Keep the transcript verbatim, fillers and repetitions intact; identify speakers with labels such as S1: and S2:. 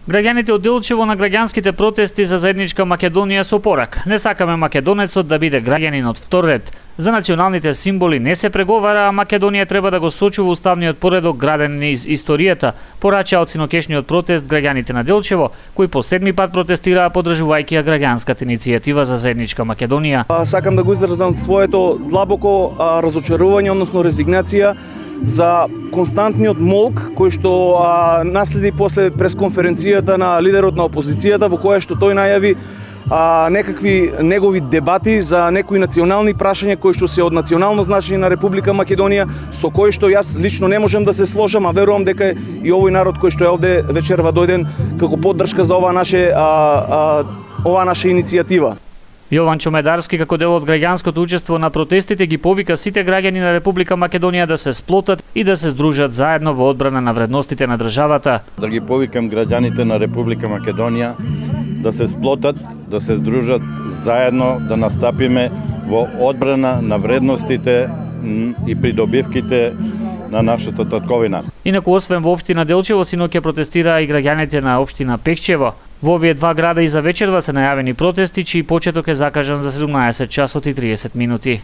S1: Граѓаните од Делчево на граѓанските протести за заедничка Македонија со порак. Не сакаме македонецот да биде граѓанин од втор ред. За националните символи не се преговара, а Македонија треба да го сочува уставниот поредок граден низ историјата, порачаа од синокешниот протест граѓаните на Делчево, кои по седми пат протестираа поддржувајќи ја граѓанската иницијатива за заедничка Македонија.
S2: Сакам да го изразам своето длабоко разочарување, односно резигнација за константниот молк кој што а, наследи после пресконференцијата на лидерот на опозицијата, во која што тој најави а, некакви негови дебати за некои национални прашања кои што се од национално значење на Република Македонија, со кои што јас лично не можам да се сложам, а верувам дека и овој народ кој што е овде вечерва дојден како поддршка за ова наше а, а, ова наша иницијатива.
S1: Јован Чомедарски, како дел од граѓанското учество на протестите, ги повика сите граѓани на Република Македонија да се сплотат и да се здружат заедно во одбрана на вредностите на државата.
S3: Да ги повикам граѓаните на Република Македонија да се сплотат, да се здружат заедно, да настапиме во одбрана на вредностите и придобивките на нашата татковина.
S1: Инаку, освен во општина Делчево, синоќа протестираа и граѓаните на општина Пекчево. Во овие два града и за вечерва се најавени протести, чиј почеток е закажан за седумнаесет часот и триесет минути.